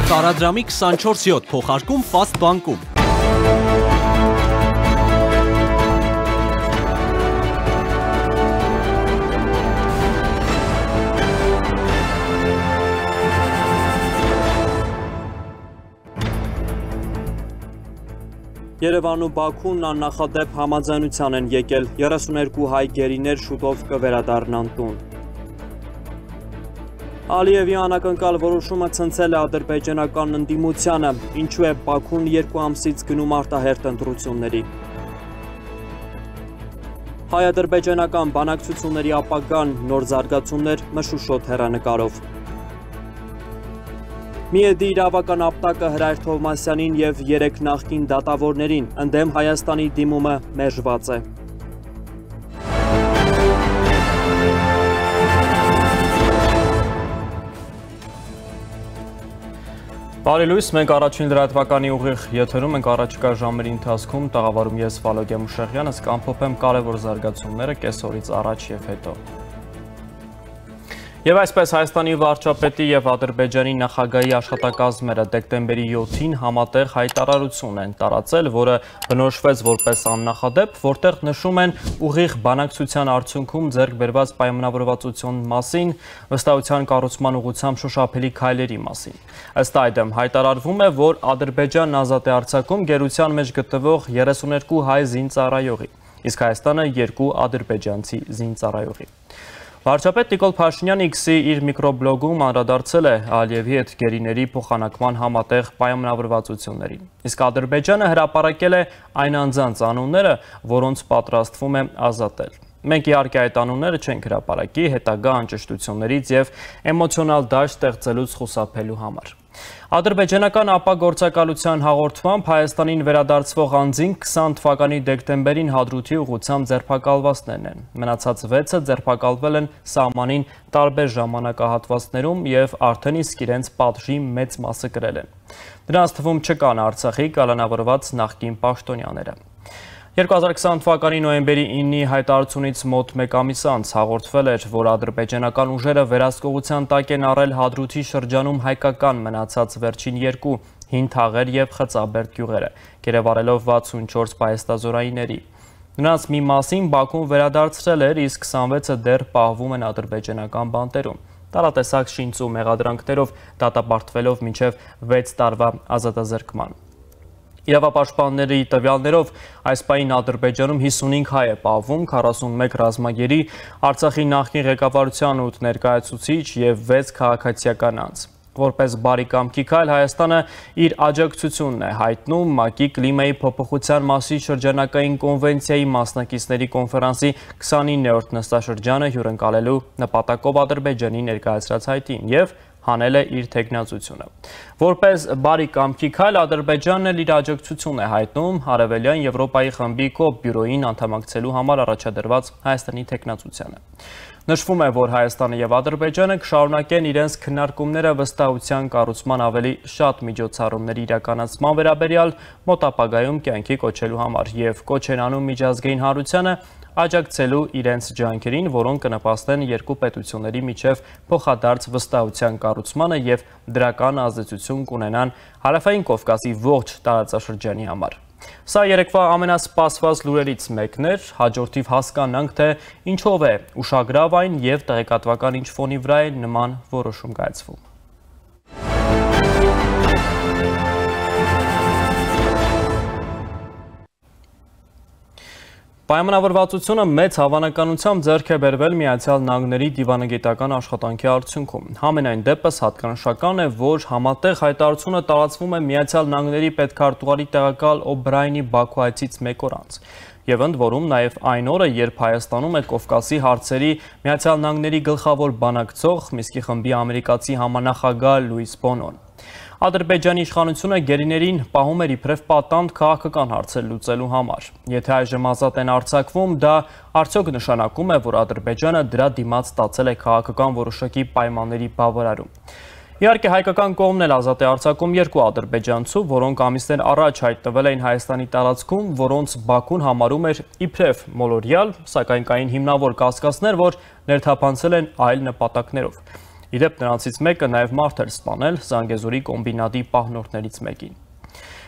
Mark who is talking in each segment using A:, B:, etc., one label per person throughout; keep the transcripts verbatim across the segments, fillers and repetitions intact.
A: Տարադրամի քսանչորս յոթ փոխարկում Fast բանկում։
B: Երևանն ու Բաքուն աննախադեպ համաձայնության են եկել, երեսուներկու հայ գերիներ շուտով կվերադառնան տուն։ Ալիևի անակնկալ որոշումը ցնցել է ադրբեջանական ընդդիմությանը, ինչու է Բաքուն երկու ամսից գնում արտահերթ ընտրությունների։ Հայ-ադրբեջանական բանակցությունների ապագան, նոր զարգացումներ մշուշոտ հեռանկարով։ Միեդի իրավական ապտակը Հրայր Թովմասյանին և երեք նախկին դատավորներին, ընդդեմ Հայաստանի դիմումը մերժված է։ Բարի լույս, մենք առաջին լրատվականի ուղիղ եթերում ենք առաջիկա ժամերի ընթացքում տաղավարում ես Վալոգիա Մուշեղյանը, կամփոփեմ կարևոր զարգացումները կեսօրից առաջ և հետո։ Եվ այսպես Հայաստանի վարչապետի և Ադրբեջանի նախագահի աշխատակազմերը դեկտեմբերի յոթին համատեղ հայտարարություն են տարածել, որը բնորոշվեց որպես աննախադեպ, որտեղ նշում են ուղիղ բանակցության արդյունքում ձեռք բերված պայմանավորվածության մասին, վստահության կառուցման ուղղությամբ շոշափելի քայլերի մասին։ Ըստ այդմ հայտարարվում է, որ Ադրբեջանն ազատ է արձակում գերության մեջ գտնվող երեսուներկու հայ զինծառայողի, իսկ Հայաստանը երկու ադրբեջանցի զինծառայողի։ Վարչապետ Նիկոլ Փաշինյանը X-ի իր միկրոբլոգում անդրադարձել է Ալիևի հետ գերիների փոխանակման համատեղ պայմանավորվածություններին։ Իսկ Ադրբեջանը հրապարակել է այն անձանց անունները, որոնց պատրաստվում է ազատել։ Մենք իհարկե այդ անունները չենք հրապարակի հետագա անճշտություններից և էմոցիոնալ դաշտ ստեղծելուց խուսափելու համար։ Ադրբեջանական ապագործակալության հաղորդմամբ Հայաստանին վերադարձվող անձին քսան թվականի դեկտեմբերին Հադրութի ուղղությամբ ձերբակալվածներն են։ Մնացած վեցը ձերբակալվել են սահմանին տարբեր ժամանակահատվածներում և արդեն իսկ իրենց պատժի մեծ մասը կրել են։ Դրանց թվում չկան Արցախի կալանավորված նախկին պաշտոնյաները։ երկու հազար քսան թվականի նոյեմբերի իննի հայտարարությունից մոտ մեկ ամիս անց հաղորդվել էր, որ ադրբեջանական ուժերը վերահսկողության տակ են առել Հադրութի շրջանում հայկական մնացած վերջին երկու հին թաղեր և Խծաբերդ գյուղերը, գերեվարելով վաթսունչորս պահեստազորայինների։ Նրանց մի մասին Բաքուն վերադարձրել էր, իսկ քսանվեցը դեռ պահվում են ադրբեջանական բանտերում, տարատեսակ շինծու մեղադրանքներով դատապարտվելով մինչև վեց տարվա ազատազրկման։ Իրավապաշտպանների տվյալներով այս պահին Ադրբեջանում հիսունհինգ հայ է պահվում, քառասունմեկ ռազմագերի, Արցախի նախկին ղեկավարության ութ ներկայացուցիչ և վեց քաղաքացիական անձ։ Որպես բարի կամքի քայլ Հայաստանը իր աջակցությունն է հայտնում ՄԱԿ-ի կլիմայի փոփոխության մասի շրջանակային կոնվենցիայի մասնակիցների կոնֆերանսի քսանիններորդ նստաշրջանը հյուրընկալելու նպատակով Ադրբեջանի ներկայացրած հայտին և հանել է իր թեկնածությունը։ Որպես բարի կամքի քայլ Ադրբեջանն էլ իր աջակցությունն է հայտնում Արևելյան Եվրոպայի խմբի կոպ բյուրոյին անդամակցելու համար առաջադրված Հայաստանի թեկնածությանը։ Նշվում է, որ Հայաստանը և Ադրբեջանը կշարունակեն իրենց քննարկումները վստահության կառուցման ավելի շատ միջոցառումների իրականացման վերաբերյալ մոտ ապագայում կյանքի կոչելու համար և կոչ են անում միջազգային հանրությանը աջակցելու իրենց ջանքերին, որոնք կնպաստեն երկու պետությունների միջև փոխադարձ վստահության կառուցմանը և դրական ազդեցություն կունենան Հարավային Կովկասի ողջ տարածաշրջանի համար։ Սա երեկվա ամենասպասված լուրերից մեկն էր, հաջորդիվ հասկանանք, թե ինչով է ուշագրավ այն և տեղեկատվական ինչ ֆոնի վրա է նման որոշում կայացվում։ Պայմանավորվածությունը մեծ հավանականությամբ ձեռք է բերվել Միացյալ Նահանգների դիվանագիտական աշխատանքի արդյունքում։ Համենայն դեպս հատկանշական է, որ համատեղ հայտարարությունը տարածվում է Միացյալ Նահանգների պետքարտուղարի տեղակալ Օ'Բրայենի Բաքու այցից մեկ օր անց։ Եվ ընդ որում նաև այն օրը, երբ Հայաստանում է Կովկասի հարցերի Միացյալ Նահանգների գլխավոր բանակցող Մինսկի խմբի ամերիկացի համանախագահ Լուիս Բոնոն։ Ադրբեջանի իշխանությունը գերիներին պահում էր իբրև պատանդ քաղաքական հարցեր լուծելու համար։ Եթե այժմ ազատ են արձակվում, դա արդյոք նշանակում է, որ Ադրբեջանը դրա դիմաց ստացել է քաղաքական որոշակի պայմանների բավարարում։ Իհարկե հայկական կողմն էլ ազատ է արձակում երկու ադրբեջանցու, որոնք ամիսներ առաջ հայտնվել էին Հայաստանի տարածքում, որոնց Բաքուն համարում էր իբրև մոլորյալ, սակայն կային հիմնավոր կասկածներ, որ ներթափանցել են այլ նպատակներով։ Իդեպ նրանցից մեկը նաև մարդ էր սպանել Զանգեզուրի կոմբինատի պահնորդներից մեկին։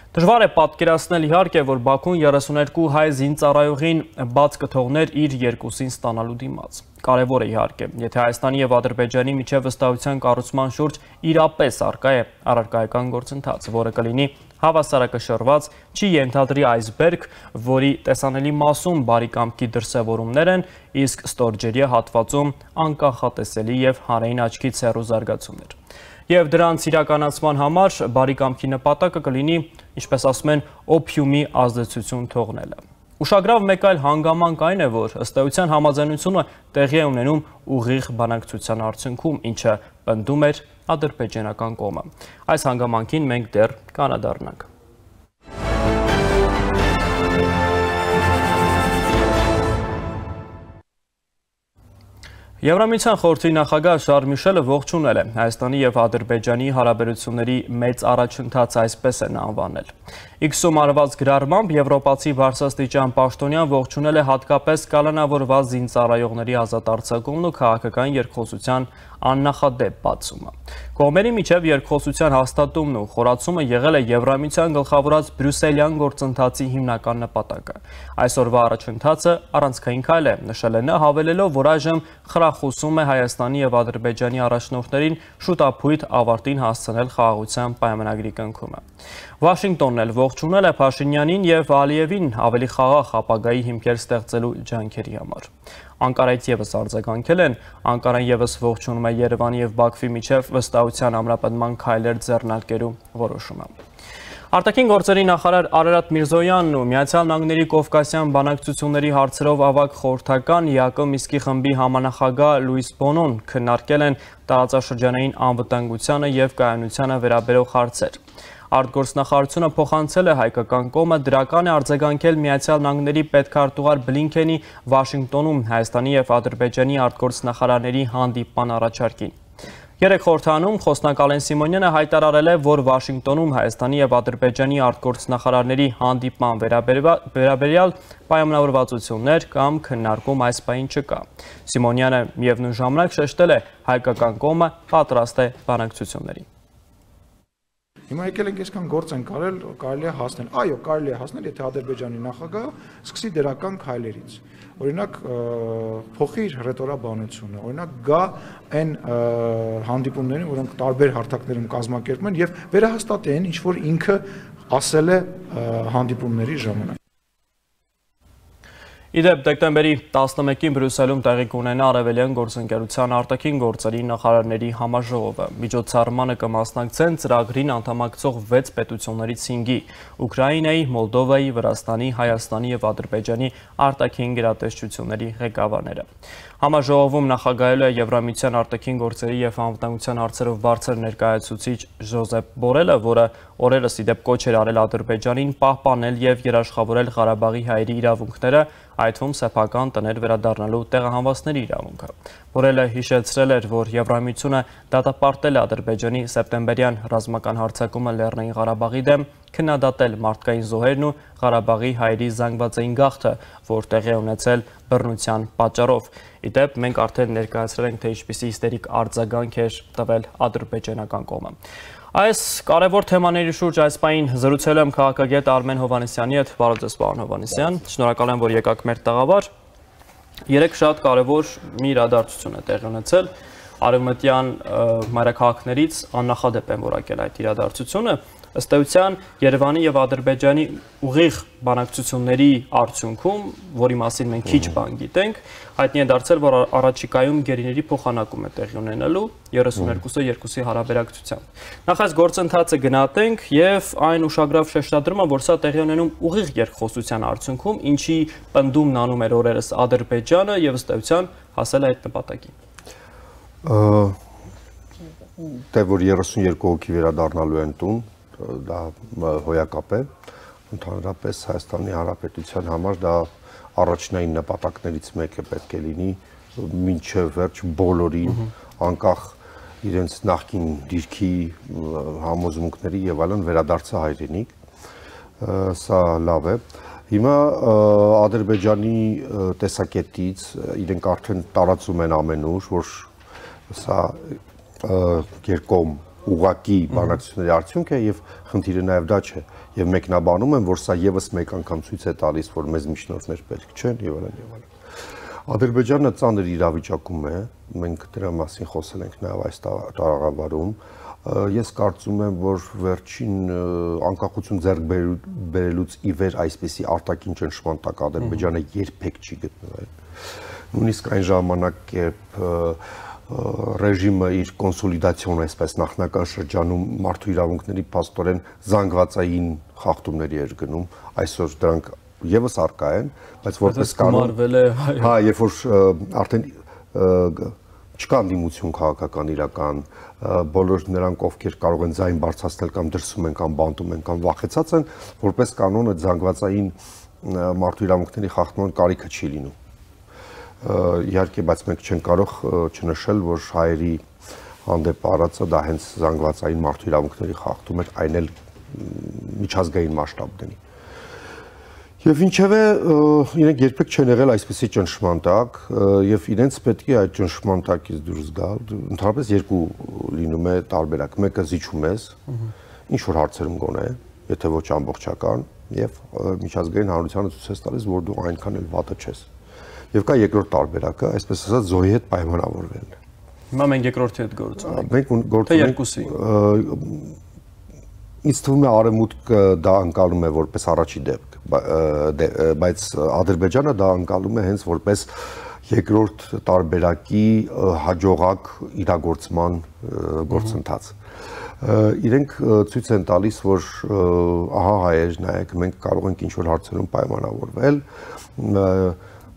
B: Դժվար է պատկերացնել իհարկե, որ Բաքուն երեսուներկու հայ զինծառայողին բաց կթողներ իր երկուսին ստանալու դիմաց։ Կարևոր է իհարկե, եթե Հայաստանի եւ Ադրբեջանի միջև վստահության կառուցման շուրջ իրապես առկա է առարկայական գործընթաց, որը կլինի հավասարակշռված, չի ենթադրի այսբերգ, որի տեսանելի մասում բարի կամքի դրսևորումներ են, իսկ ստորջերյա հատվածում անկանխատեսելի եւ հանրային աչքից հեռու զարգացումներ։ Եվ դրանց իրականացման համար բարի կամքի նպատակը կլինի, ինչպես ասում են, օփյումի ազդեցություն թողնելը։ Ուշագրավ մեկ այլ հանգամանք այն է, որ ըստ էության համաձայնությունը տեղի է ունենում ուղիղ բանակցության արդյունքում, ինչը պնդում էր ադրբեջանական կողմը։ Այս հանգամանքին մենք դեռ կանադառնանք։ Եվրամիության խորհրդի նախագահ Շարլ Միշելը ողջունել է Հայաստանի եւ Ադրբեջանի հարաբերությունների մեծ առաջընթաց, այսպես են անվանել։ Իքսում արված գրառմամբ եվրոպացի բարձրաստիճան պաշտոնյան ողջունել է հատկապես կալանավորված զինծառայողների ազատ արձակումն ու քաղաքական երկխոսության աննախադեպ բացումը։ Կողմերի միջև երկխոսության հաստատումն ու խորացումը եղել է Եվրամիության գլխավորած բրյուսելյան գործընթացի հիմնական նպատակը։ Այսօրվա առաջընթացը առանցքային քայլ է, նշել է նա, հավելելով, որ այժմ խրախուսում է Հայաստանի եւ Ադրբեջանի առաջնորդներին շուտապույտ ավարտին հասցնել խաղաղության պայմանագրի կնքումը։ Վաշինգտոնն էլ ողջունել է Փաշինյանին եւ Ալիևին ավելի խաղաղ ապագայի հիմքեր ստեղծելու ջանքերի համար։ Անկարայից եւս արձագանքել են, Անկարան եւս ողջունում է Երևանի եւ Բաքվի միջև վստահության ամրապնդման քայլեր ձեռնարկելու որոշումը։ Արտաքին գործերի նախարար Արարատ Միրզոյանն ու Միացյալ Նահանգների Կովկասյան բանակցությունների հարցերով ավագ խորհրդական ԵԱԿ Միսկի խմբի համանախագահ Լուիս Բոնոն քննարկել են տարածաշրջանային անվտանգությանը եւ կայունությանը վերաբերող հարցեր։ Արտգործնախարարությունը փոխանցել է հայկական կողմը դրական է արձագանքել Միացյալ Նահանգների պետքարտուղար Բլինքենի Վաշինգտոնում Հայաստանի եւ Ադրբեջանի արտգործնախարարների հանդիպման առաջարկին։ Երեք խորհրդանում խոսնակ Ալեն Սիմոնյանը հայտարարել է, որ Վաշինգտոնում Հայաստանի եւ Ադրբեջանի արտգործնախարարների հանդիպման վերաբերյալ պայմանավորվածություններ կամ քննարկում այս պահին չկա։ Սիմոնյանը միևնույն ժամանակ շեշտել է, հայկական կողմը պատրաստ է բանակցություններին։
C: Հիմա եկել ենք այսքան գործ են կարել, կարելի է հասնել։ Այո, կարելի է հասնել, եթե Ադրբեջանի նախագահը սկսի դրական քայլերից։ Օրինակ, փոխի իր ռետորաբանությունը, օրինակ գա այն հանդիպումներին, որոնք տարբեր հարթակներում կազմակերպում են եւ վերահաստատի այն, ինչ որ ինքը ասել է հանդիպումների ժամանակ։
B: Իդեպ դեկտեմբերի տասնմեկին Բրյուսելում տեղի կունենա Արևելյան գործընկերության արտաքին գործերի նախարարների համաժողովը։ Միջոցառմանը կմասնակցեն ծրագրին անդամակցող վեց պետություններից հինգի՝ Ուկրաինայի, Մոլդովայի, Վրաստանի, Հայաստանի եւ Ադրբեջանի արտաքին գերատեսչությունների ղեկավարները։ Համաժողովում նախագահելու է Եվրամիության արտաքին գործերի եւ անվտանգության հարցերով բարձր ներկայացուցիչ Ժոզեփ Բորելը, որը օրերս իդեպ կոչ էր արել Ադրբեջանին պահպանել եւ երաշխավորել Ղարաբաղի հայերի իրավունքները, այդ թվում սեփական տներ վերադառնալու տեղահանվածների իրավունքը։ Բորելը հիշեցրել էր, որ Եվրամիությունը դատապարտել է Ադրբեջանի սեպտեմբերյան ռազմական հարձակումը Լեռնային Ղարաբաղի դեմ, քննադատել մարդկային զոհերն ու Ղարաբաղի հայերի զանգվածային գաղթը, որ տեղի է ունեցել բռնության պատճառով։ Իդեպ մենք արդեն ներկայացրել ենք, թե ինչպիսի հիստերիկ արձագանք էր տվել ադրբեջանական կողմը։ Այս կարևոր թեմաների շուրջ այս պահին զրուցել եմ քաղաքագետ Արմեն Հովհաննիսյանի հետ։ Բարև ձեզ, պարոն Հովհաննիսյան։ Շնորհակալ եմ, որ եկաք մեր տաղավար։ Երեք շատ կարևոր մի իրադարձություն է տեղի ունեցել։ Արևմտյան մայրաքաղաքներից աննախադեպ են որակել այդ իրադարձությունը։ Ըստ էության Երևանի եւ Ադրբեջանի ուղիղ բանակցությունների արդյունքում, որի մասին մենք քիչ բան գիտենք, հայտնի է դարձել, որ առաջիկայում գերիների փոխանակում է տեղի ունենալու երեսուներկուսը երկուսի հարաբերակցությամբ։ Նախ այս գործընթացը գնահատենք եւ այն ուշագրավ շեշտադրումը, որ սա տեղի ունենում ուղիղ երկխոսության արդյունքում, ինչի պնդումն անում էր օրերս Ադրբեջանը եւ ըստ էության հասել է այդ նպատակին։
D: Դե որ երեսունյերկու հոգի վերադառնալու են տուն, դա հոյակապ է, ընդհանրապես Հայաստանի Հանրապետության համար դա առաջնային նպատակներից մեկը պետք է լինի մինչև վերջ բոլորին, անկախ իրենց նախկին դիրքի համոզմունքների եւ այլն վերադարձը հայրենիք, սա լավ է։ Հիմա Ադրբեջանի տեսակետից իրենք արդեն տարածում են ամենուր, որ սա երկկողմ ուղղակի բանակցությունների արդյունք է եւ խնդիրը նաեւ դա չէ եւ մեկնաբանում են որ սա եւս մեկ անգամ ցույց է տալիս որ մեզ միջնորդներ պետք չեն եւ այլն եւ այլն Ադրբեջանը ծանր իրավիճակում է մենք դրա մասին խոսել ենք նաեւ այս տարաղավարում ես կարծում եմ որ վերջին անկախություն ձեռք բերելուց ի վեր այսպիսի արտաքին ճնշման տակ Ադրբեջանը երբեք չի գտնվել նույնիսկ այն ժամանակ երբ ռեժիմը իր կոնսոլիդացիոն այսպես նախնական շրջանում մարդու իրավունքների փաստորեն զանգվածային խախտումների էր գնում այսօր դրանք եւս արկա են բայց որպես կանոն հա երբ որ արդեն չկա դիմություն քաղաքական իրական բոլոր նրանք ովքեր կարող են ձայն բարձրացնել կամ դրսում են կամ բանտում են կամ վախեցած են որպես կանոն այդ զանգվածային մարդու իրավունքների խախտման կարիքը չի լինում իհարկե բայց մենք չենք կարող չնշել որ հայերի հանդեպ առածը դա հենց զանգվածային մարդու իրավունքների խախտում էր այն էլ միջազգային մասշտաբների Եվ ինչևէ իրենք երբեք չեն եղել այսպիսի ճնշման տակ եւ իրենց պետք է այդ ճնշման տակից դուրս գալ ընդհանրապես երկու լինում է տարբերակ մեկը զիջում ես ինչ որ հարցերում գոնե եթե ոչ ամբողջական եւ միջազգային հանրությանը ցույց ես տալիս որ դու այնքան էլ վատը չես եւ կա երկրորդ տարբերակը այսպես ասած զոհի հետ պայմանավորվելն է
B: հիմա մենք երկրորդի հետ գործ ունենք
D: մենք գործ ունենք ինձ թվում է արևմուտքը դա անցալում է որպես առաջի դեպք բայց Ադրբեջանը դա անցալում է հենց որպես երկրորդ տարբերակի հաջողակ իրագործման գործընթաց իրենք ցույց են տալիս որ ահա հայեր նայեք մենք կարող ենք ինչ որ հարցերում պայմանավորվել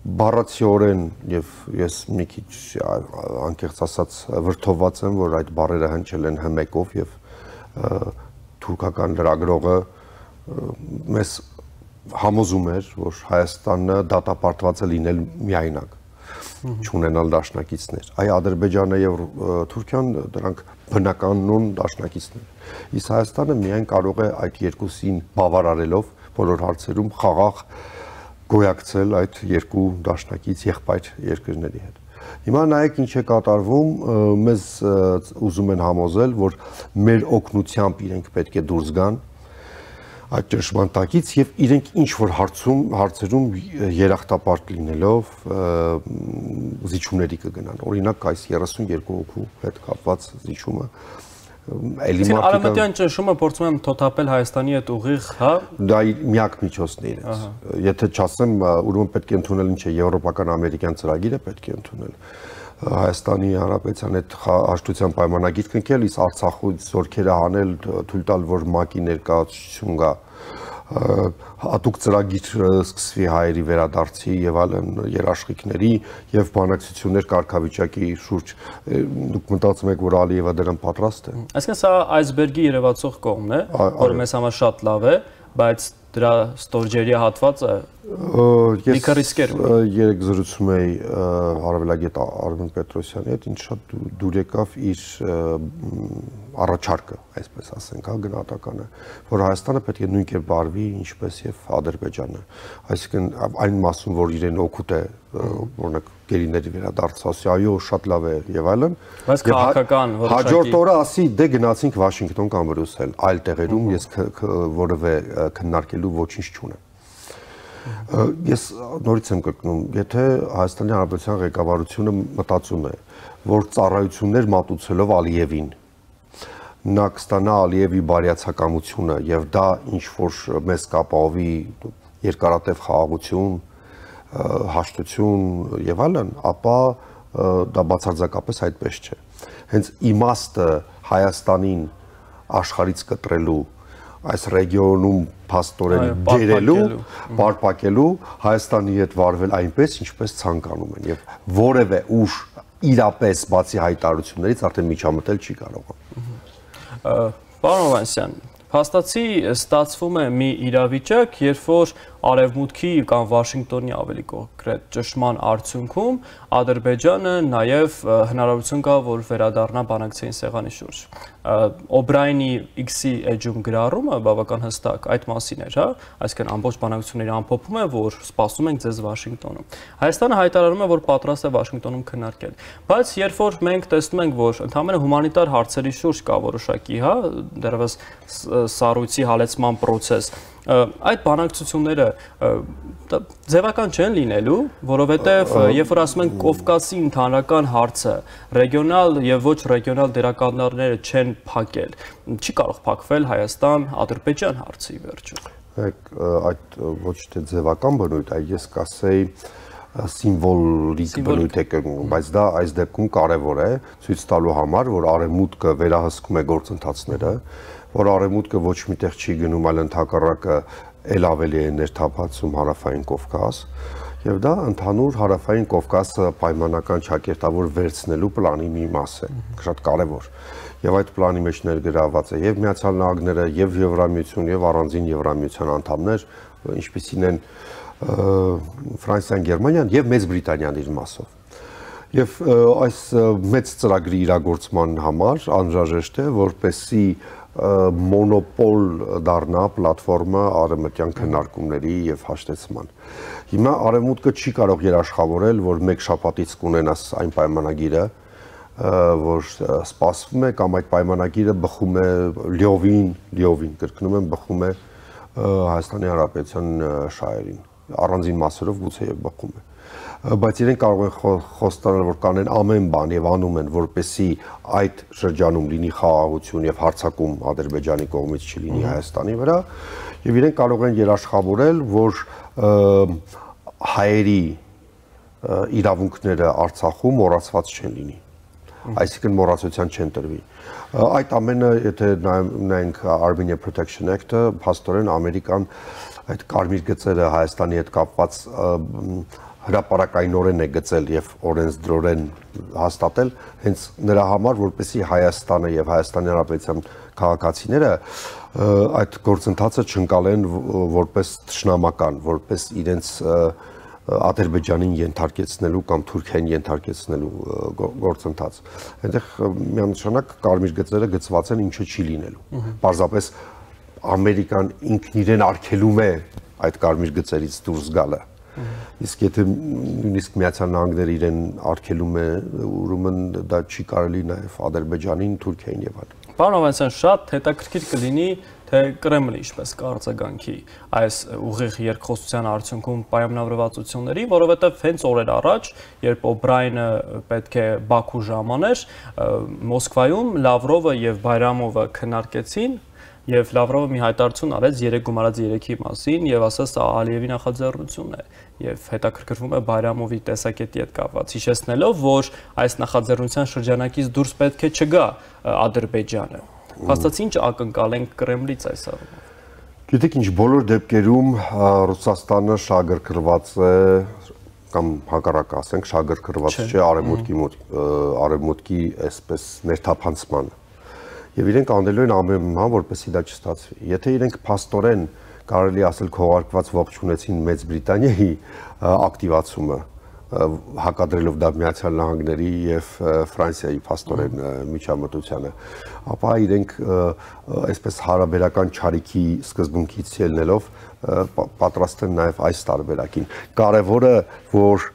D: բառացիորեն եւ ես մի քիչ անկեղծ ասած վրդովված եմ որ այդ բառերը հնչել են հմեկով եւ թուրքական լրագրողը մեզ համոզում էր, որ Հայաստանը դատապարտված է լինել միայնակ, չունենալ դաշնակիցներ։ Այ Ադրբեջանը եւ Թուրքիան դրանք բնականon դաշնակիցներ։ Իսկ Հայաստանը միայն կարող է այդ երկուսին բավարարելով բոլոր հարցերում խաղաղ գոյակցել այդ երկու դաշնակից եղբայր երկրների հետ։ Հիմա նայեք ինչ է կատարվում, մեզ ուզում են համոզել, որ մեր օգնությամբ իրենք պետք է դուրս գան այդ ճնշման տակից եւ իրենք ինչ որ հարցում հարցերում երախտապարտ լինելով զիջումների կգնան։ Օրինակ այս երեսունյոթ հոգու հետ կապված զիջումը էլի մարդիկ
B: Արևմտյան ճնշումը փորձում եմ թոթափել Հայաստանի հետ ուղիղ, հա։
D: Դա միակ միջոցն է իրենց։ Եթե չասեմ, ուրեմն պետք է ընդունել ինչ է եվրոպական ամերիկյան ծրագիրը պետք է ընդունել։ Հայաստանի Հանրապետության հետ հաշտության պայմանագիր կնքել, իսկ Արցախից զորքերը հանել, թույլ տալ, որ ՄԱԿ-ի ներկայացություն գա, հատուկ ծրագիր սկսվի հայերի վերադարձի եւ այլն երաշխիքների եւ բանակցություններ կարգավիճակի շուրջ դուք մտածում եք որ Ալիևը դրան պատրաստ է
B: Այսինքն սա այսբերգի երևացող կողմն է որը մեզ համար շատ լավ է բայց դրա ստորջերի հատվածը լիքը ռիսկեր ունի
D: երեք զրուցում էի հարավելագետ Արմեն Պետրոսյանի հետ ինչ շատ դուր եկավ իր առաջարկը այսպես ասենք հա գնահատականը որ Հայաստանը պետք է նույն կերպ բարվի ինչպես եւ Ադրբեջանը այսինքն այն մասում որ իրեն օգուտ է օրինակ գերիների վերադարձ ասի այո շատ լավ է եւ այլն
B: բայց քաղաքական
D: հաջորդ օրը ասի դե գնացինք Վաշինգտոն կամ Բրյուսել այլ տեղերում ես որևէ քննարկելու ոչինչ չունեմ Ես նորից եմ կրկնում, եթե Հայաստանի Հանրապետության ղեկավարությունը մտածում է, որ ծառայություններ մատուցելով Ալիևին նա կստանա Ալիևի բարյացակամությունը եւ դա ինչ որ մեզ կապահովի երկարատև խաղաղություն, հաշտություն եւ այլն, ապա դա բացարձակապես այդպես չէ։ Հենց իմաստը Հայաստանին աշխարհից կտրելու այս ռեգիոնում փաստորեն դերելու, պարփակելու Հայաստանի հետ վարվել այնպես, ինչպես ցանկանում են եւ որևէ ուժ իրապես բացի հայտարարություններից արդեն միջամտել չի կարող։
B: Պարոն Հովհաննիսյան, փաստացի ստացվում է մի իրավիճակ, երբ որ Արևմուտքի կամ Վաշինգտոնի ավելի կոնկրետ ճնշման արդյունքում Ադրբեջանը նաև հնարավորություն կա, որ վերադառնա բանակցային սեղանի շուրջ։ Օբրայնի X-ի էջում գրառումը բավական հստակ այդ մասին էր, հա, այսինքն ամբողջ բանակցությունների ամփոփում է, որ սպասում ենք ձեզ Վաշինգտոնում։ Հայաստանը հայտարարում է, որ պատրաստ է Վաշինգտոնում քննարկել, բայց երբ որ մենք տեսնում ենք, որ ընդհանրապես հումանիտար հարցերի շուրջ կա որոշակի, հա, դեռևս սառույցի հալեցման process, այդ բանակցությունները ձևական չեն լինելու, որովհետև երբ որ ասում ենք Կովկասի ընդհանրական հարցը, ռեգիոնալ եւ ոչ ռեգիոնալ դերակատարները չեն փակել, չի կարող փակվել Հայաստան-Ադրբեջան հարցի վերջում։
D: Այդ ոչ թե ձևական բնույթ, այլ ես կասեի սիմվոլիկ բնույթ է կրում, բայց դա այս դեպքում կարևոր է ցույց տալու համար, որ արևմուտքը վերահսկում է գործընթացները, որ արևմուտքը ոչ միտեղ չի գնում, այլ ընդհակառակը ել ավելի է ներթափանցում հարավային Կովկաս, եւ դա ընդհանուր հարավային Կովկասը պայմանական ճակերտավոր վերցնելու պլանի մի մաս է, շատ կարևոր։ Եվ այդ պլանի մեջ ներգրավված է եւ Միացյալ Նահանգները, եւ Եվրամիություն, եւ առանձին Եվրամիության անդամներ, ինչպիսին են Ֆրանսիան, Գերմանիան եւ Մեծ Բրիտանիան իր մասով։ Եվ այս մեծ ծրագրի իրագործման համար անհրաժեշտ է, որպեսզի մոնոպոլ դառնա պլատֆորմը արևմտյան քննարկումների եւ հաշտեցման։ Հիմա արևմուտքը չի կարող երաշխավորել, որ մեկ շաբաթից կունենաս այն պայմանագիրը, որ սպասվում է կամ այդ պայմանագիրը բխում է լիովին, լիովին կրկնում եմ, բխում է Հայաստանի Հանրապետության շահերին, առանձին մասերով գուցե եւ բխում է։ Բայց իրենք կարող են խոստանալ, որ կանեն ամեն բան եւ անում են, որպեսզի այդ շրջանում լինի խաղաղություն եւ հարձակում Ադրբեջանի կողմից չլինի Հայաստանի վրա, եւ իրենք կարող են երաշխավորել, որ հայերի իրավունքները Արցախում մոռացված չեն լինի, այսինքն մոռացության չեն տրվի։ Այդ ամենը, եթե նայենք Armenia Protection Act-ը, փաստորեն Ամերիկան այդ կարմիր գծերը Հայաստանի հետ կապված հրապարակայնորեն է գծել եւ օրենսդրորեն հաստատել հենց նրա համար, որպեսզի Հայաստանը եւ Հայաստանի Հանրապետության քաղաքացիները այդ գործընթացը չընկալեն որպես թշնամական, որպես իրենց Ադրբեջանին ենթարկեցնելու կամ Թուրքիային ենթարկեցնելու գործընթաց։ Այնտեղ միանշանակ կարմիր գծերը գծված են, ինչը չի լինելու։ Պարզապես Ամերիկան ինքն իրեն արգելում է այդ կարմիր գծերից դուրս գալը։ Իսկ եթե նույնիսկ Միացյալ Նահանգները իրեն արգելում է, ուրեմն դա չի կարելի նաև Ադրբեջանին, Թուրքիային եւ այլն։
B: Պարոն Հովհաննիսյան, շատ հետաքրքիր կլինի, թե Կրեմլը ինչպես կարձագանքի այս ուղիղ երկխոսության արդյունքում պայմանավորվածությունների, որովհետև հենց օրեր առաջ, երբ Օբրայնը պետք է Բաքու ժամաներ, Մոսկվայում Լավրովը եւ Բայրամովը քննարկեցին Եվ Լավրովը մի հայտարարություն արեց երեք գումարած երեքի մասին եւ ասաց սա Ալիևի նախաձեռնությունն է եւ հետաքրքրվում է Բայրամովի տեսակետի հետ կապված, հիշեցնելով, որ այս նախաձեռնության շրջանակից դուրս պետք է չգա Ադրբեջանը։ Փաստացի ինչ ակնկալենք Կրեմլից այս առումով։
D: Գիտեք ինչ, բոլոր դեպքերում Ռուսաստանը շահագրգռված է կամ հակառակ ասենք շահագրգռված չէ արևմուտքի մոտ, արևմուտքի այսպես ներթափանցմանը։ Եվ իրենք անելու են ամեն բան, որպեսզի դա չստացվի։ Եթե իրենք փաստորեն կարելի ասել քողարկված ողջունեցին Մեծ Բրիտանիայի ակտիվացումը, հակադրելով դա Միացյալ Նահանգների եւ Ֆրանսիայի փաստորեն միջամտությանը, ապա իրենք այսպես հարաբերական չարիքի սկզբունքից ելնելով պատրաստ են նաեւ այս տարբերակին։ Կարևորը, որ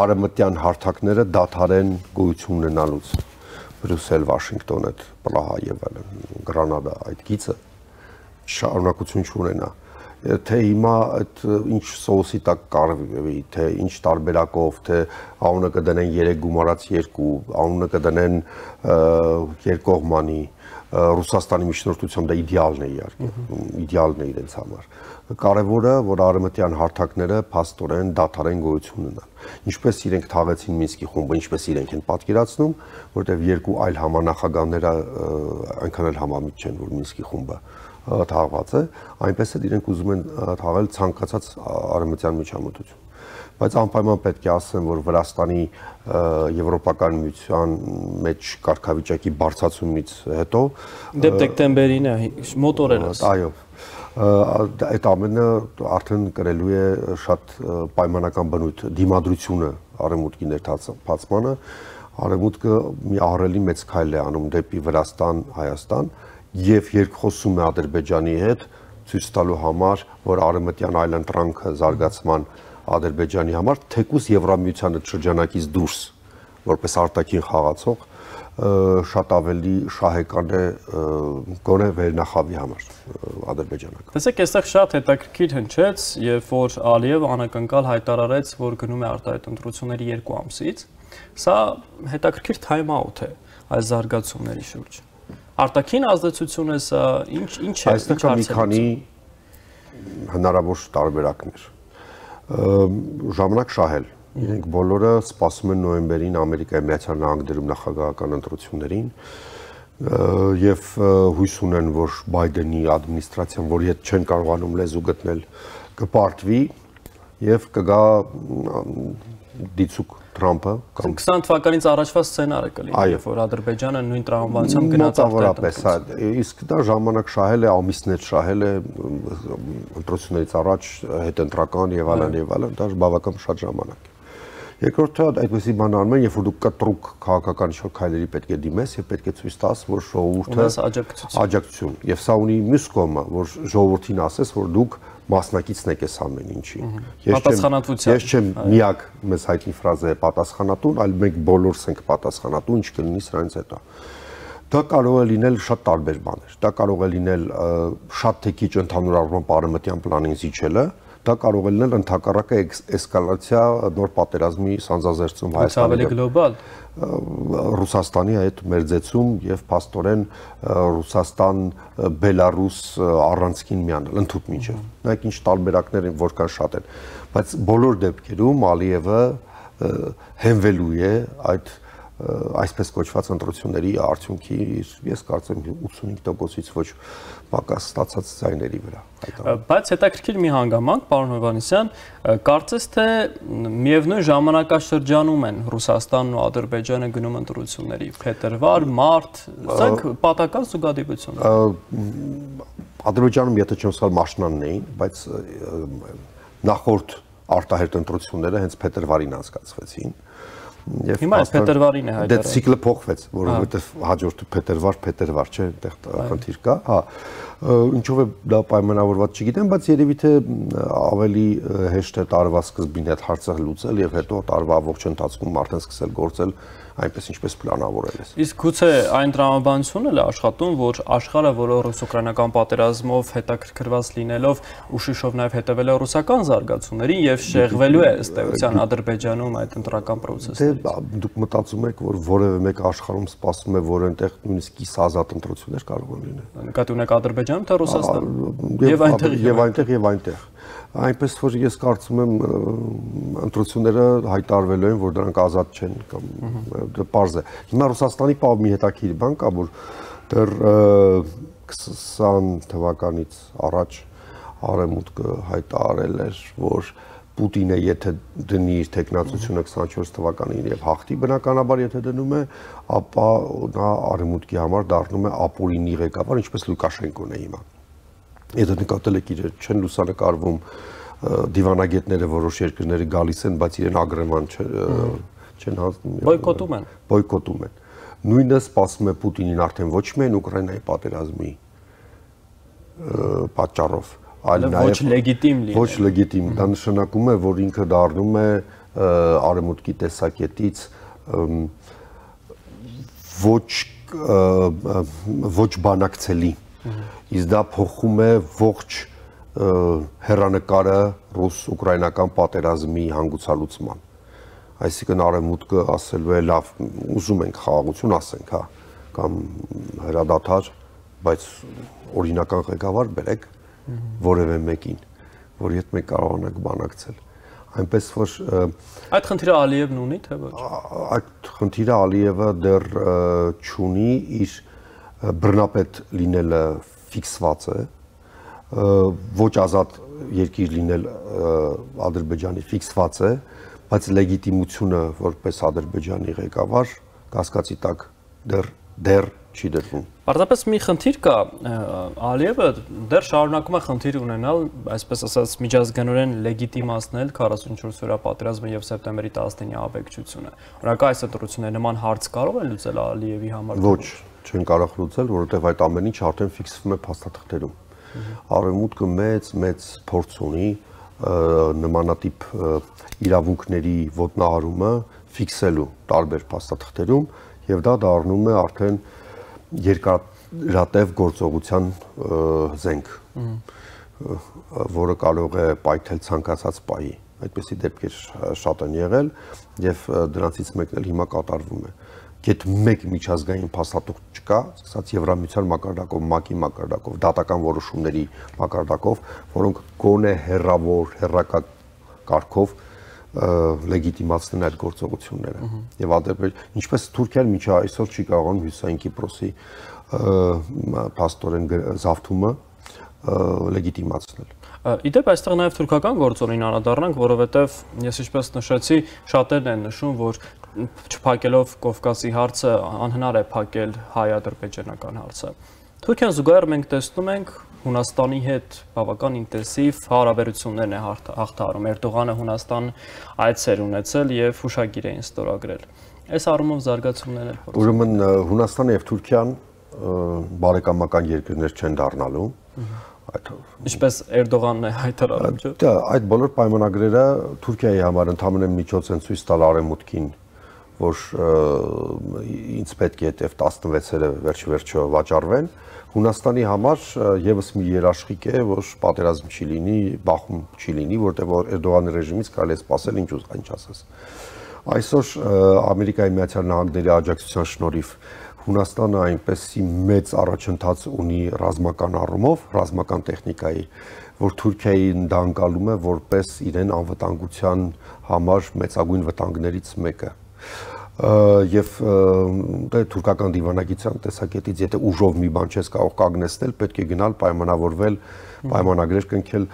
D: արևմտյան հարթակները դադարեն գոյություն ունենալուց Բրյուսել, Վաշինգտոն, այդ Պրահա եւ այլն, Գրանադա, այդ գիծը շարունակություն չունենա։ Թե հիմա այդ ինչ սոուսի տակ կարվի, թե ինչ տարբերակով, թե անունը կդնեն երեք գումարած երկու, անունը կդնեն երկկողմանի, Ռուսաստանի միջնորդությամբ դա իդեալն է իհարկե, իդեալն է իրենց համար։ Կարևորը, որ արևմտյան հարթակները փաստորեն դադարեն գոյություն ունենան։ Ինչպես իրենք թաղեցին Մինսկի խումբը, ինչպես իրենք են պատկերացնում, որտեղ երկու այլ համանախագահները այնքան էլ համամիտ չեն, որ Մինսկի խումբը թաղված է, այնպես էլ իրենք ուզում են թաղել ցանկացած արևմտյան միջամտություն։ Բայց անպայման պետք է ասեմ, որ Վրաստանի եվրոպական միության մեջ կարգավիճակի բարձրացումից հետո
B: դեպ դեկտեմբերին է մոտ օրերս։
D: Այո, այդ ամենը արդեն կրելու է շատ պայմանական բնույթ դիմադրությունը արևմուտքի ներթափածմանը, արևմուտքը մի ահռելի մեծ քայլ է անում դեպի Վրաստան, Հայաստան եւ երկխոսում է Ադրբեջանի հետ ցույց տալու համար, որ արևմտյան այլընտրանքը զարգացման Ադրբեջանի համար թեկուզ Եվրամիության շրջանակից դուրս որպես արտաքին խաղացող շատ ավելի շահեկան է գոնե վերնախավի համար ադրբեջանական։
B: Տեսեք, այստեղ շատ հետաքրքիր հնչեց, երբ որ Ալիևը անակնկալ հայտարարեց, որ գնում է արտահայտ ընտրությունների երկու ամսից, սա հետաքրքիր time out է այս զարգացումների շուրջ։ Արտաքին ազդեցությունը սա ինչ ինչ է։
D: Այստեղ կա մի քանի հնարավոր տարբերակներ։ Ժամանակ շահել Իրենք բոլորը սպասում են նոյեմբերին Ամերիկայի Միացյալ Նահանգներում նախագահական ընտրություններին եւ հույս ունեն, որ Բայդենի ադմինիստրացիան, որի հետ չեն կարողանում լեզու գտնել, կպարտվի եւ կգա դիցուկ Թրամփը
B: կամ քսան թվականից առաջվա սցենարը կլինի, երբ որ Ադրբեջանը նույն տրամաբանությամբ գնաց
D: մոտավորապես, իսկ դա ժամանակ շահել է, ամիսներ շահել է ընտրություններից առաջ հետընտրական եւ այլն եւ այլն, դա բավական շատ ժամանակ է։ Երկրորդը այդպեսի բան անում են, երբ որ դու կտրուկ քաղաքական ինչ-որ քայլերի պետք է դիմես եւ պետք է ցույց տաս, որ ժողովուրդը աջակցություն եւ սա ունի մյուս կողմը, որ ժողովրդին ասես, որ դուք մասնակիցն եք այս ամեն ինչի։ Ես չեմ միակ մեզ հայտնի ֆրազը է պատասխանատուն, այլ մենք բոլորս ենք պատասխանատու, ինչ կլինի սրանից հետո։ Դա կարող է լինել շատ տարբեր բաներ։ Դա կարող է լինել շատ թե քիչ ընդհանուր առմամբ արևմտյան պլանին զիջելը, դա կարող է լինել ընդհակառակը էսկալացիա նոր պատերազմի սանձազերծում Հայաստանի
B: ավելի գլոբալ
D: Ռուսաստանի այդ մերձեցում եւ փաստորեն Ռուսաստան Բելարուս առանցքին միանալ ընդհուպ միջև։ Նայեք ինչ տարբերակներ են, որքան շատ են, բայց բոլոր դեպքերում Ալիևը հենվելու է այդ այսպես կոչված ընտրությունների արդյունքի ես կարծեմ ութսունհինգ տոկոսից ոչ պակաս ստացած ձայների վրա։
B: Բայց հետաքրքիր մի հանգամանք, պարոն Հովհաննիսյան, կարծես թե միևնույն ժամանակաշրջանում են Ռուսաստանն ու Ադրբեջանը գնում ընտրությունների, փետրվար, մարտ, սրանք պատական զուգադիպություն են։
D: Ադրբեջանում եթե չեմ սխալ մաշնանն էին, բայց նախորդ արտահերտ ընտրությունները հենց փետրվարին անցկացվեցին։
B: Հիմա այս փետրվարին է հայտարարել։
D: Դե ցիկլը փոխվեց, որովհետև հաջորդը փետրվար, փետրվար չէ, այնտեղ խնդիր կա, հա։ Ինչով է դա պայմանավորված չգիտեմ, բայց երևի թե ավելի հեշտ է տարվա սկզբին այդ հարցը լուծել եւ հետո տարվա ողջ ընթացքում արդեն սկսել գործել այնպես ինչպես պլանավորել է։
B: Իսկ գուցե այն տրամաբանությունն էլ է աշխատում, որ աշխարհը, որը ռուս-ուկրաինական պատերազմով հետաքրքրված լինելով ու շիշով նաև հետևել է ռուսական զարգացումներին եւ շեղվելու է ըստ էության Ադրբեջանում այդ ընտրական process-ը։
D: Դե դուք մտածում եք, որ որևէ մեկ աշխարհում սպասում է, որ այնտեղ նույնիսկ կիս ազատ ընտրություններ կարող են լինել։
B: Նկատի ունեք Ադրբեջանում թե Ռուսաստանում։ Եվ այնտեղ
D: եւ այնտեղ եւ այնտեղ։ Այնպես որ ես կարծում եմ ընտրությունները հայտարարվելու են, որ դրանք ազատ չեն կամ դա պարզ է։ Հիմա Ռուսաստանի պահ մի հետաքրքիր բան կա, որ դեռ քսան թվականից առաջ Արևմուտքը հայտարարել էր, որ Պուտինը եթե դնի իր տեխնացությունը քսանչորս թվականին եւ հաղթի բնականաբար եթե դնում է, ապա նա Արևմուտքի համար դառնում է ապօրինի ղեկավար, ինչպես Լուկաշենկոն է հիմա։ Եթե նկատել եք իրեր չեն լուսանկարվում դիվանագետները որոշ երկրների գալիս են, բայց իրեն ագրեման չեն
B: բոյկոտում են։
D: Բոյկոտում են։ Նույնը սպասում է Պուտինին արդեն ոչ միայն Ուկրաինայի պատերազմի պատճառով, այլ նաև
B: ոչ լեգիտիմ լինի։
D: Ոչ լեգիտիմ, դա նշանակում է, որ ինքը դառնում է արևմուտքի տեսակետից ոչ ոչ բանակցելի։ Իսկ դա փոխում է ողջ հեռանկարը ռուս-ուկրաինական պատերազմի հանգուցալուծման։ Այսինքն արևմուտքը ասելու է լավ, ուզում ենք խաղաղություն ասենք, հա, կամ հրադադար, բայց օրինական ղեկավար բերեք որևէ մեկին, որի հետ մենք կարողանանք բանակցել։ Այնպես որ
B: այդ խնդիրը Ալիևն ունի, թե ոչ։
D: Այդ խնդիրը Ալիևը դեռ չունի, իր բռնապետ լինելը ֆիքսված է, ոչ ազատ երկիր լինել Ադրբեջանի ֆիքսված է, բայց լեգիտիմությունը որպես Ադրբեջանի ղեկավար կասկածի տակ դեռ դեռ չի դրվում։
B: Պարզապես մի խնդիր կա, Ալիևը դեռ շարունակում է խնդիր ունենալ, այսպես ասած, միջազգանորեն լեգիտիմացնել քառասունչորս օրյա պատերազմը եւ սեպտեմբերի տասնինի ահաբեկչությունը։ Օրինակ այս ընտրությունները նման հարց կարող են լուծել Ալիևի համար։
D: Ոչ, չեն կարող լուծել, որովհետեւ այդ ամեն ինչ արդեն ֆիքսվում է փաստաթղթերում։ Արևմուտքը մեծ մեծ փորձ ունի նմանատիպ իրավունքների ոտնահարումը ֆիքսելու տարբեր փաստաթղթերում եւ դա դառնում է արդեն երկարատև գործողության զենք, որը կարող է պայթել ցանկացած պահի։ Այդպիսի դեպքեր շատ են եղել եւ դրանցից մեկն էլ հիմա կատարվում է։ Գեթ մեկ միջազգային փաստաթուղթ չկա, ասած Եվրամիության մակարդակով, ՄԱԿ-ի մակարդակով, դատական որոշումների մակարդակով, որոնք գոնե հերրավոր, հերրական կարգով լեգիտիմացնեն այդ գործողությունները։ Եվ Ադրբեջան, ինչպես Թուրքիան մինչ այսօր չի կարողանում Հյուսիսային Կիպրոսի փաստորեն զավթումը լեգիտիմացնել։
B: Իդեպ այստեղ նաև թուրքական գործոնին անդրադառնանք, որովհետև ես ինչպես նշեցի, շատերն են նշում, որ չփակելով Կովկասի հարցը անհնար է փակել հայ-ադրբեջանական հարցը։ Թուրքիան զուգահեռ մենք տեսնում ենք Հունաստանի հետ բավական ինտենսիվ հարաբերություններն է հաղթահարում։ Էրդողանը Հունաստան այցեր ունեցել եւ հուշագիր էին ստորագրել։ Այս առումով զարգացումներն են փորձում։
D: Ուրեմն Հունաստանը եւ Թուրքիան բարեկամական երկրներ չեն դառնալու։
B: Ինչպես Էրդողանն է հայտարարում, չէ՞։
D: Դա այդ բոլոր պայմանագրերը Թուրքիայի համար ընդհանրեն միջոց են ցույց տալ արևմուտքին, որ ինձ պետք է այդ տասնվեցերը վերջ-վերջո վաճառվեն։ Հունաստանի համար եւս մի երաշխիք է, որ պատերազմ չի լինի, բախում չի լինի, որտեղ Էրդողանի ռեժիմից կարելի է սպասել ինչ ուզա, ինչ ասես։ Այսօր Ամերիկայի Միացյալ Նահանգների աջակցության շնորհիվ Հունաստանը այնպեսի մեծ առաջընթաց ունի ռազմական առումով, ռազմական տեխնիկայի, որ Թուրքիային դա անցալում է որպես իրեն անվտանգության համար մեծագույն վտանգներից մեկը։ Եվ դե թուրքական դիվանագիտության տեսակետից եթե ուժով մի բան չես կարող կանգնեցնել, պետք է գնալ պայմանավորվել, պայմանագրեր կնքել,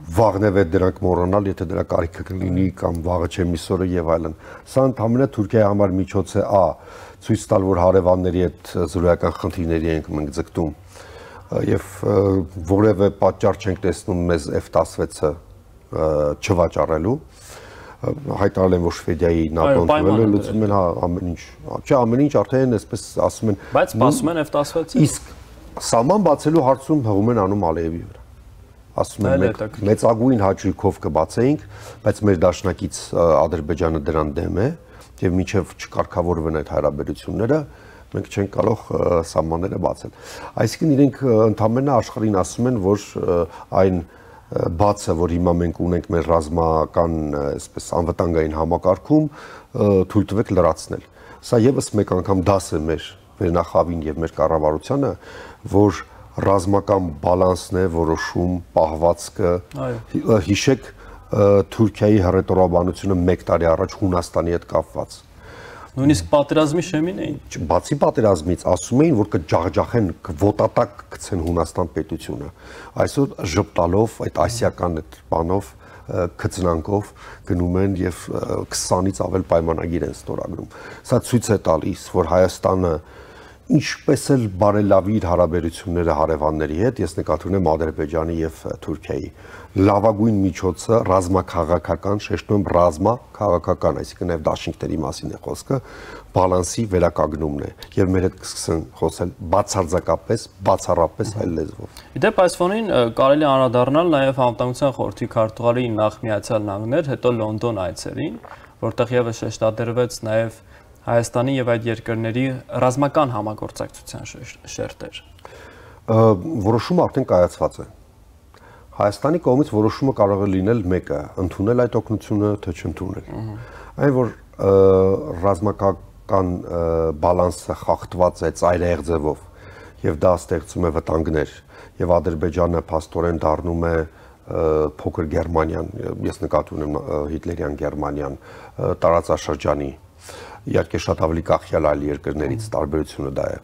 D: վաղնև է դրանք մոռանալ, եթե դրա կարիքը կլինի կամ վաղը չէ միսօրը եւ այլն։ Սա ընդհանրապես Թուրքիայի համար միջոց է ա ցույց տալ, որ հարևանների հետ զրոյական խնդիրների ենք մենք ձգտում եւ որևէ պատճառ չենք տեսնում մեզ F տասնվեցը չվաճառելու։ Հայտարարել են, որ Շվեդիայի ՆԱՏՕ-ն թվել է լուծում են ամեն ինչ։ Չէ, ամեն ինչ արդեն այսպես ասում են։
B: Բայց սպասում են F տասնվեցը։
D: Իսկ սահման բացելու հարցում հղում են անում Ալիևի վրա։ Ասում են մենք մեծագույն հաճույքով կբացեինք, բայց մեր դաշնակից Ադրբեջանը դրան դեմ է եւ մինչեւ չկարգավորվեն այդ հարաբերությունները, մենք չենք կարող սահմանները բացել։ Այսինքն իրենք ընդհանրապես աշխարհին ասում են, որ այն բացը, որ հիմա մենք ունենք մեր ռազմական, այսպես անվտանգային համակարգում, թույլ տվեք լրացնել։ Սա եւս մեկ անգամ դաս է մեր վերնախավին եւ մեր կառավարությանը, որ ռազմական բալանսն է որոշում պահվածքը։ Հիշեք Թուրքիայի հռետորաբանությունը մեկ տարի առաջ Հունաստանի հետ կապված։
B: Նույնիսկ պատերազմի շեմին էին։
D: Բացի պատերազմից ասում էին, որ կջախջախեն, կոտատակ գցեն Հունաստան պետությունը։ Այսօր ժպտալով այդ ասիական այդ բանով քծնանքով գնում են եւ քսանից ավել պայմանագիր են ստորագրում։ Սա ցույց է տալիս, որ Հայաստանը ինչպես էլ բարելավի իր հարաբերությունները հարևանների հետ, ես նկատի ունեմ Ադրբեջանի եւ Թուրքիայի լավագույն միջոցը ռազմաքաղաքական, շեշտում եմ ռազմաքաղաքական, այսինքն եւ դաշինքների մասին է խոսքը, բալանսի վերականգնումն է եւ մեր հետ կսկսեն խոսել բացարձակապես, բացառապես այլ լեզվով։
B: Իդեպ այս ֆոնին կարելի է անդրադառնալ նաեւ Անվտանգության խորհրդի քարտուղարի նախ Միացյալ Նահանգներ, հետո Լոնդոն այցերին, որտեղ եւս շեշտադրվեց նաեւ Հայաստանի եւ այդ երկրների ռազմական համագործակցության շերտեր։
D: Որոշումը արդեն կայացված է։ Հայաստանի կողմից որոշումը կարող է լինել մեկը՝ ընդունել այդ օգնությունը, թե չընդունել։ Այն որ ռազմական բալանսը խախտված է ծայրահեղ ձևով եւ դա ստեղծում է վտանգներ եւ Ադրբեջանը փաստորեն դառնում է փոքր Գերմանիան, ես նկատի ունեմ հիտլերյան Գերմանիան տարածաշրջանի իհարկե շատ ավելի կախյալ այլ երկրներից տարբերությունը դա է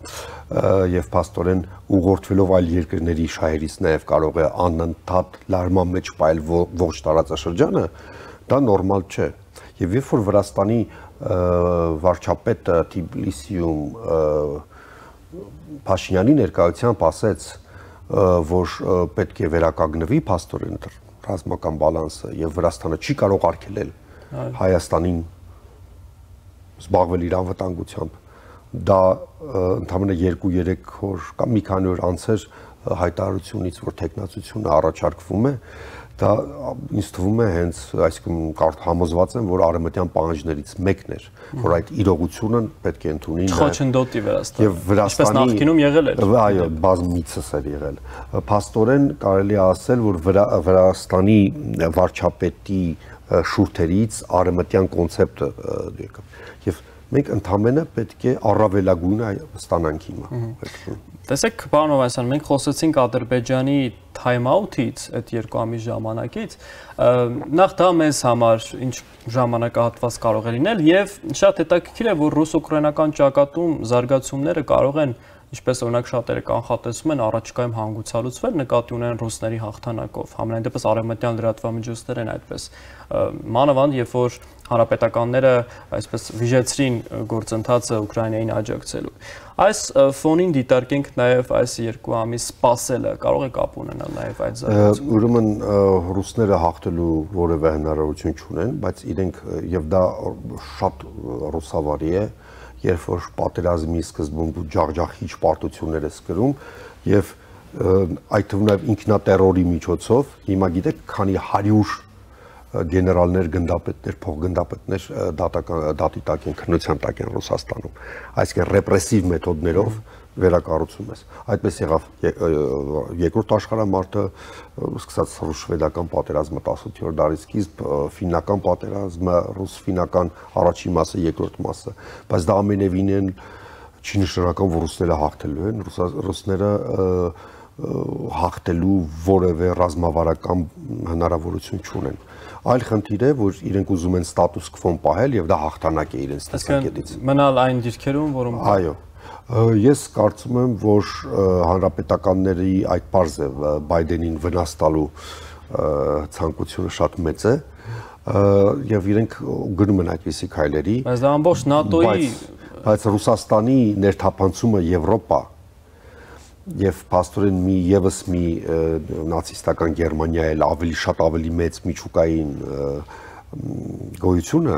D: եւ փաստորեն ուղղորդվելով այլ երկրների շահերից նաեւ կարող է անընդհատ լարման մեջ պայել ողջ տարածաշրջանը դա նորմալ չէ եւ երբ որ Վրաստանի վարչապետը Թբիլիսիում Փաշինյանի ներկայությամբ ասեց, որ պետք է վերականգնվի փաստորեն ռազմական բալանսը եւ Վրաստանը չի կարող արգելել Հայաստանին զբաղվել իր անվտանգությամբ, դա ընդամենը երկու երեք օր կամ մի քանի օր անց էր հայտարարությունից, որ տեխնացությունը առաջարկվում է, դա ինձ թվում է հենց, այսինքն համոզված եմ, որ արևմտյան պահանջներից մեկն էր, որ այդ իրողությունը պետք է ընդունի
B: Խոչընդոտի Վրաստանը։
D: Եվ Վրաստանի
B: նախկինում եղել էր։
D: Այո, բազմիցս էր եղել։ Փաստորեն կարելի է ասել, որ Վրաստանի վարչապետի շուրթերից արևմտյան կոնցեպտը եկավ։ Եվ մենք ընդամենը պետք է առավելագույնը ստանանք հիմա։
B: Տեսեք, պարոն Հովհաննիսյան, մենք խոսեցինք Ադրբեջանի թայմ-աութից, այդ երկու ամիս ժամանակից, նախ դա մեզ համար ինչ ժամանակահատված կարող է լինել եւ շատ հետաքրքիր է, որ ռուս-ուկրաինական ճակատում զարգացումները կարող են, ինչպես օրինակ շատերը կանխատեսում են, առաջիկայում հանգուցալուծվել նկատի ունեն ռուսների հաղթանակով։ Համենայն դեպս արևմտյան լրատվամիջոցներ են այդպես մանավանդ, երբ որ հանրապետականները այսպես վիժեցրին գործընթացը Ուկրաինային աջակցելու։ Այս ֆոնին դիտարկենք նաև այս երկու ամիս սպասելը կարող է կապ ունենալ նաև այդ զարգացումը։
D: Ուրեմն ռուսները հաղթելու որևէ հնարավորություն չունեն, բայց իրենք եւ դա շատ ռուսավարի է, երբ որ պատերազմի սկզբում ջախջախիչ պարտություններ է սկրում եւ այդ թվում նաև ինքնատերորի միջոցով հիմա գիտեք քանի հարյուր գեներալներ, գնդապետներ, փոխգնդապետներ դատի տակ են, քննության տակ են Ռուսաստանում, այսինքն ռեպրեսիվ մեթոդներով վերակառուցում ես։ Այդպես եղավ երկրորդ աշխարհամարտը, սկսած ռուս-շվեդական պատերազմը տասնութերորդ դարի սկիզբ, ֆիննական պատերազմը, ռուս-ֆիննական առաջին մասը, երկրորդ մասը, բայց դա ամենևին չի նշանակում, որ ռուսները հաղթելու են, ռուսները հաղթելու որևէ ռազմավարական հնարավորություն չունեն։ Այլ խնդիր է, որ իրենք ուզում են ստատուս քվոն պահել եւ դա հաղթանակ է իրենց տեսակետից։
B: Մնալ այն դիրքերում, որում
D: Այո։ Ես կարծում եմ, որ հանրապետականների այդ բարձ է Բայդենին վնաս տալու ցանկությունը շատ մեծ է եւ իրենք գնում են այդպիսի քայլերի։
B: Բայց դա ամբողջ ՆԱՏՕ-ի
D: բայց Ռուսաստանի ներթափանցումը Եվրոպա եւ փաստորեն մի եւս մի նացիստական Գերմանիա էլ ավելի շատ ավելի մեծ միջուկային գոյությունը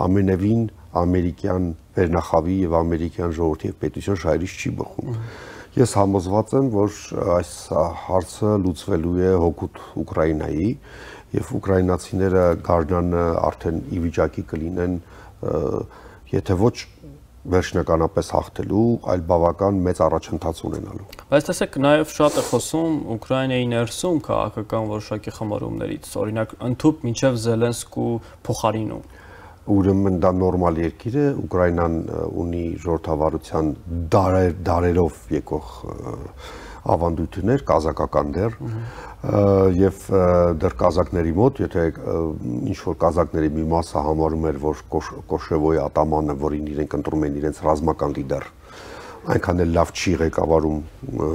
D: ամենևին ամերիկյան վերնախավի եւ ամերիկյան ժողովրդի եւ պետության շահերից չի բխում։ Ես համոզված եմ, որ այս հարցը լուծվելու է հօգուտ Ուկրաինայի եւ ուկրաինացիները գարնան արդեն ի վիճակի կլինեն եթե ոչ վերջնականապես հաղթելու, այլ բավական մեծ առաջընթաց ունենալու։
B: Բայց տեսեք, նաև շատ է խոսում Ուկրաինայի ներսում քաղաքական որոշակի խմորումներից, օրինակ ընդհուպ մինչև Զելենսկու փոխարինում։
D: Ուրեմն դա նորմալ երկիր է, Ուկրաինան ունի ժողովրդավարության դարեր, դարերով եկող ավանդույթներ, կազակական դեր, եւ դեռ կազակների մոտ, եթե ինչ որ կազակների մի մասը համարում էր, որ Կոշևոյի ատամանը, որին իրենք ընտրում են իրենց ռազմական լիդեր, այնքան էլ լավ չի ղեկավարում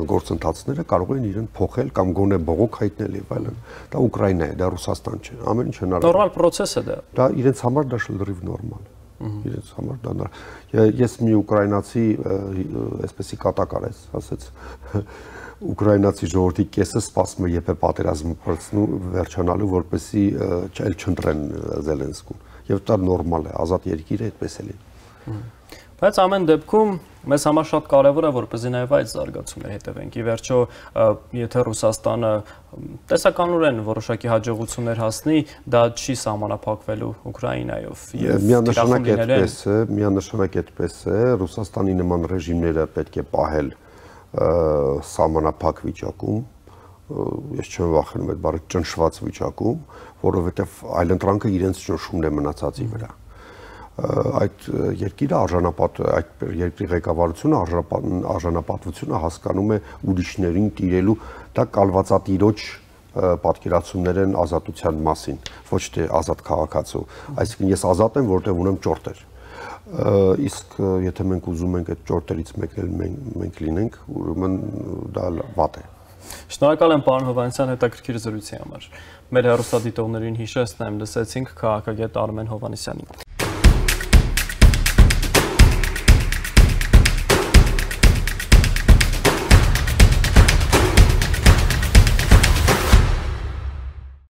D: գործընթացները, կարող են իրեն փոխել կամ գոնե բողոք հայտնել եւ այլն։ Դա Ուկրաինա է, դա Ռուսաստան չէ, ամեն ինչ հնարավոր։
B: Նորմալ process է դա։
D: Դա իրենց համար դա շլրիվ նորմալ է։ Իրենց համար դա նորմալ։ Ես մի ուկրաինացի այսպեսի կատակար ես, ասեց Ուկրաինացի ժողովրդի կեսը սպասում է երբ է պատերազմը փորձնու վերջանալու, որպեսզի չել չընտրեն Զելենսկուն։ Եվ դա նորմալ է, ազատ երկիր է, այդպես էլ է։
B: Բայց ամեն դեպքում մեզ համար շատ կարևոր է, որպեսզի նաև այդ զարգացումները հետևենք։ Ի վերջո, եթե Ռուսաստանը տեսականորեն որոշակի հաջողություններ հասնի, դա չի սահմանափակվելու Ուկրաինայով։
D: Միանշանակ այդպես է, միանշանակ այդպես է, Ռուսաստանի նման ռեժիմները պետք է պահել սահմանափակ վիճակում, ես չեմ վախենում այդ բառը ճնշված վիճակում, որովհետև այլընտրանքը իրենց ճնշումն է մնացածի վրա։ Այդ երկիրը արժանապատ, այդ երկրի ղեկավարությունը արժանապատվությունը հասկանում է ուրիշներին տիրելու, դա կալվածատիրոջ պատկերացումներ են ազատության մասին, ոչ թե ազատ քաղաքացու։ Այսինքն ես ազատ եմ, որտեղ ունեմ ճորտեր։ Իսկ եթե մենք ուզում ենք այդ ճորտերից մեկն էլ մենք լինենք, ուրեմն դա վատ է։
B: Շնորհակալ եմ պարոն Հովհաննիսյան հետաքրքիր զրույցի համար։ Մեր հեռուստադիտողներին հիշեցնեմ, լսեցինք քաղաքագետ Արմեն Հովհաննիսյանին։